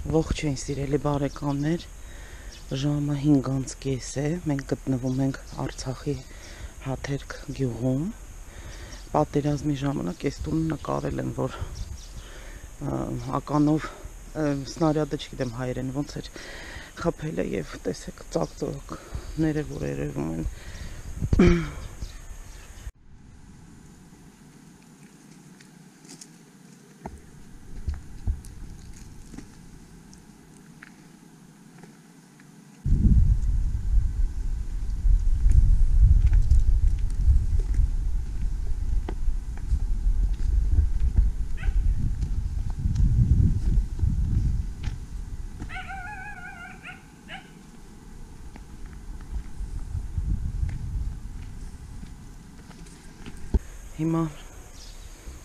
Ողջույն սիրելի բարեկամներ, ժամը 5:30 է, մենք գտնվում ենք Արցախի Հաթերք գյուղում։ Պատերազմի ժամանակ այս տունը նկարել են, որ ականով սնարյադը չգիտեմ հայերեն ոնց էր խփել է եւ տեսեք ծակծոկները որ երևում են։ Հիմա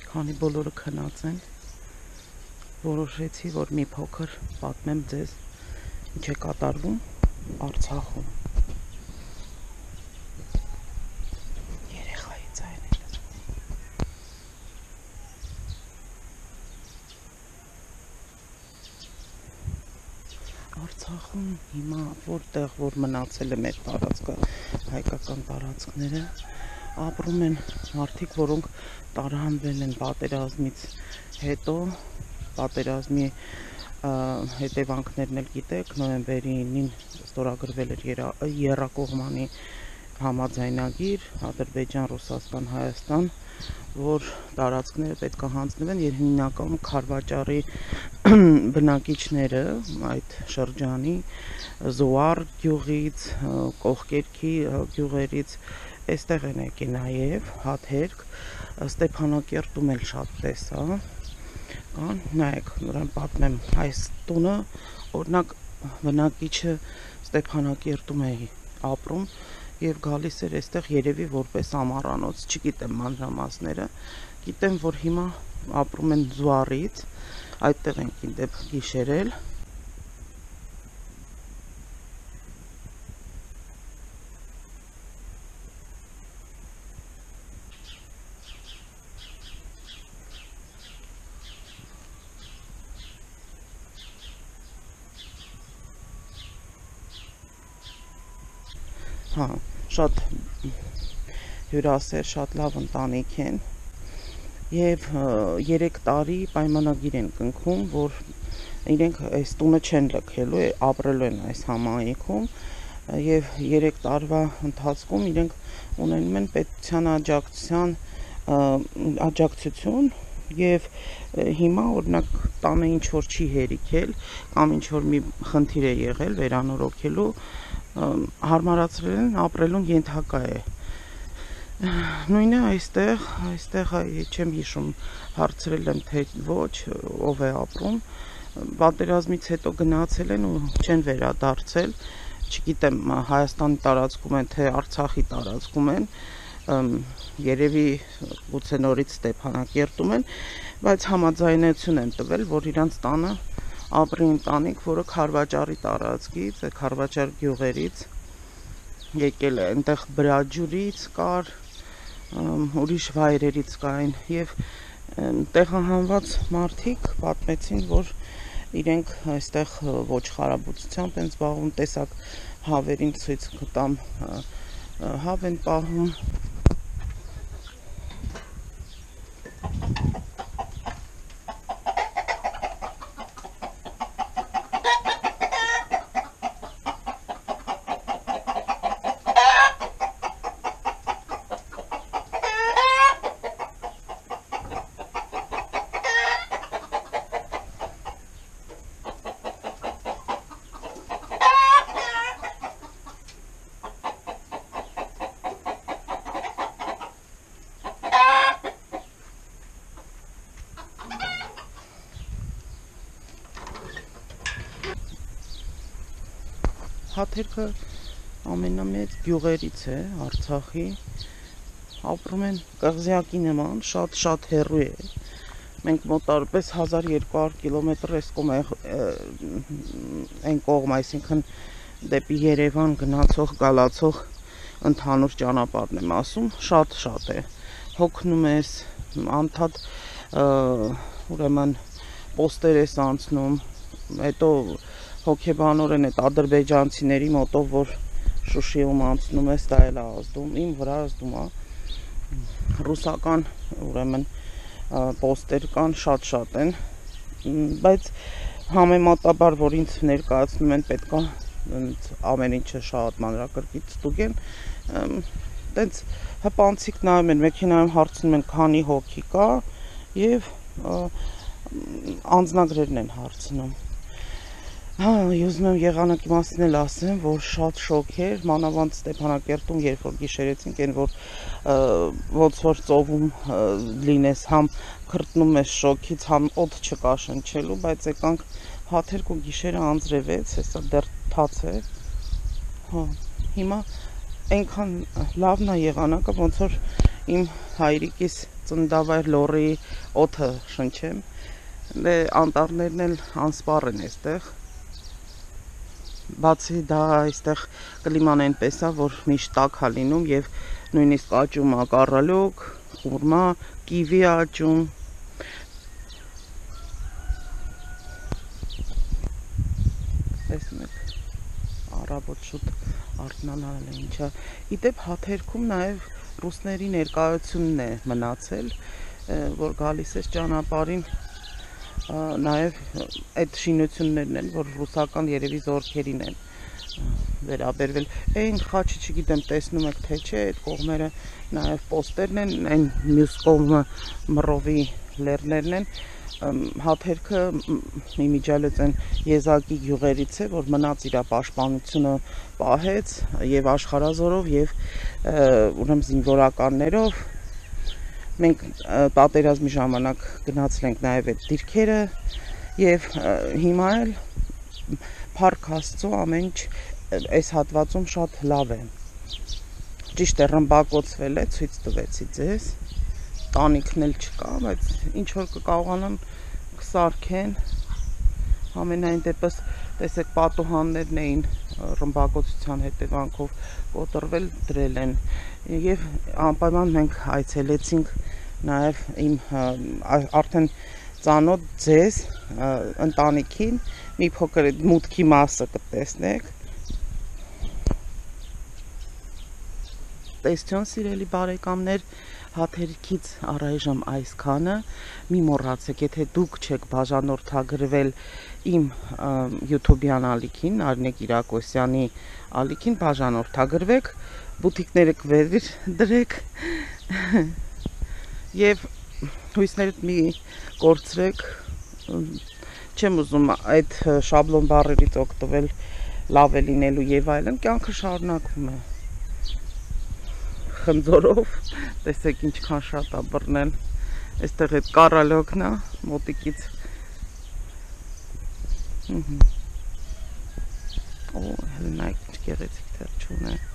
քանի բոլորը քնած են, որոշեցի, որ մի փոքր պատմեմ ձեզ ինչ է կատարվում Արցախում։ Երեխայի ձայները։ Արցախում հիմա որտեղ որ մնացել է մեր տարածքը, հայկական տարածքները, ապրում են մարդիկ, որոնք տարհանվել են պատերազմից հետո, պատերազմի հետևանքներն էլ գիտեք, նոյեմբերի 9-ին ստորագրվել էր Եռակողմանի համաձայնագիր Ադրբեջան, Ռուսաստան, Հայաստան, որ տարածքները պետք է հանձնվեն եւ հիմնականում Քարվաճարի բնակիչները այդ շրջանի Զուար գյուղից, Կողկերքի գյուղերից Այստեղ են եկել նաև Հաթերք, Ստեփանակերտում էլ շատ տեսա, նայեք, նրան պատմեմ, այս տունը, օրինակ բնակիչը Ստեփանակերտում է ապրում եւ գալիս էր այստեղ երևի որպես ամառանոց, չգիտեմ մանրամասները, գիտեմ, որ հիմա ապրում են Զուարից, այդտեղ ենք իդեպ գիշերել։ Հա, շատ հյուրասեր, շատ լավ ընտանիք են եւ 3 տարի պայմանագիր են կնքում, որ իրենք այս տունը չեն լքելու, ապրելու են այս համայնքում եւ 3 տարվա ընթացքում իրենք ունենում են պետության աջակցություն եւ հիմա օրինակ տանը ինչ որ չի հերիքել կամ ինչ որ մի խնդիր է եղել վերանորոգելու հարմարացրել են ապրելուն ենթակա է։ Նույնը այստեղ չեմ հիշում, հարցրել եմ թե ոչ, ով է ապրում, պատերազմից հետո գնացել են ու չեն վերադարձել, չգիտեմ Հայաստանի տարածքում են թե Արցախի տարածքում են, երևի գուցե նորից Ստեփանակերտում են, բայց համաձայնություն են տվել, որ իրանց տանը ապրի ընտանիք, որը Քարվաճարի տարածքից, Քարվաճար գյուղերից եկել է, այնտեղ Բրաջուրից կար, ուրիշ վայրերից կային եւ տեղահանված մարդիկ պատմեցին, որ իրենք այստեղ ոչխարաբուծությամբ են զբաղվում, տեսակ հավերին ցույց կտամ, հավ են պահում։ Հաթերքը ամենամեծ գյուղերից է Արցախի, ապրում են կղզյակի նման, շատ հեռու է, մենք մոտարպես 1200 կիլոմետր այն կողմ, այսինքն դեպի Երևան գնացող, գալացող ընդհանուր ճանապարհն եմ ասում, շատ է, հոգնում ես, անդադ ուրեմն պոստեր ես անցնում, հետո հոգեբանորեն այդ ադրբեջանցիների մոտով, որ Շուշիում անցնում է, դա էլ ազդում, իմ վրա ազդում է, ռուսական, ուրեմն, պոստեր կան, շատ են, բայց համեմատաբար, որ ինձ ներկայացնում են, պետք է ամեն ինչը շատ մանրակրկիտ ստուգեն, տենց հպանցիկ նայում են, մեքենայում հարցնում են քանի հոգի կա եւ անձնագրերն են հարցնում։ Ուզում եմ եղանակի մասին էլ ասեմ, որ շատ շոկ էր, մանավանդ Ստեփանակերտում, երբ որ գիշերեցինք, այն որ ոնց որ ծովում լինես, համ քրտնում ես շոկից, համ օդ չկա շնչելու, բայց եկանք հաթերք ու գիշերը անձրևեց, հեսա դեռ թաց է։ Հիմա այնքան լավն է եղանակը, ոնց որ իմ հայրիկիս ծննդավայր Լոռիի օդը շնչեմ, անտառներն էլ անսպառ են այստեղ։ Բացի դա այստեղ կլիման այնպես է, որ միշտ տաք է լինում եւ նույնիսկ աճում է կառալոկ, խուրմա, կիվի աճում։ Տեսնում եք, առավոտ շուտ արթնանալն է ինչա։ Իդեպ հաթերքում նաեւ ռուսների ներկայությունն է մնացել, որ գալիս է ճանապարհին նաև այդ շինություններն են, որ ռուսական երևի զորքերին են վերաբերվել։ Այն խաչը չգիտեմ տեսնում եք թե չէ, այդ կողմերը նաև պոստերն են, այն մյուս կողմը մռովի լեռներն են։ Հաթերքը իմիջիալից են եզակի գյուղերից է, որ մնաց իր պաշտպանությունը պահեց եւ աշխարհազորով եւ ուրեմն զինվորականներով։ Մենք պատերազմի ժամանակ գնացել ենք նաև այդ դիրքերը եւ հիմա էլ փառք Աստծո ամեն ինչ այս հատվածում շատ լավ է։ Ճիշտ է, ռմբակոծվել է, ցույց տվեցի ձեզ, տանիքն էլ չկա, բայց ինչ որ կկարողանան կսարքեն, ամենայն դեպս տեսեք պատուհաններն էին ռմբակոծության հետևանքով կոտրվել, դրել են եւ անպայման մենք այցելեցինք նաեւ իմ արդեն ծանոթ ձեզ ընտանիքին, մի փոքր մուտքի մասը կտեսնեք։ Տեսություն սիրելի բարեկամներ, հաթերքից առայժմ այսքանը, մի մոռացեք, եթե դուք չեք բաժանորդագրվել իմ YouTube-յան ալիքին, Արինե Կիրակոսյանի ալիքին, բաժանորդագրվեք, բուտիկները կվեր դրեք եւ հույսներդ մի կորցրեք, չեմ ուզում այդ շաբլոն բառերից օգտվել, լավ է լինելու եւ այլն, կյանքը շարունակվում է խնձորով, տեսեք ինչքան շատ է բռնել, այստեղ այդ կառալոկն է, մոտիկից, օ, հելնայք ինչ գեղեցիկ թերչուն է։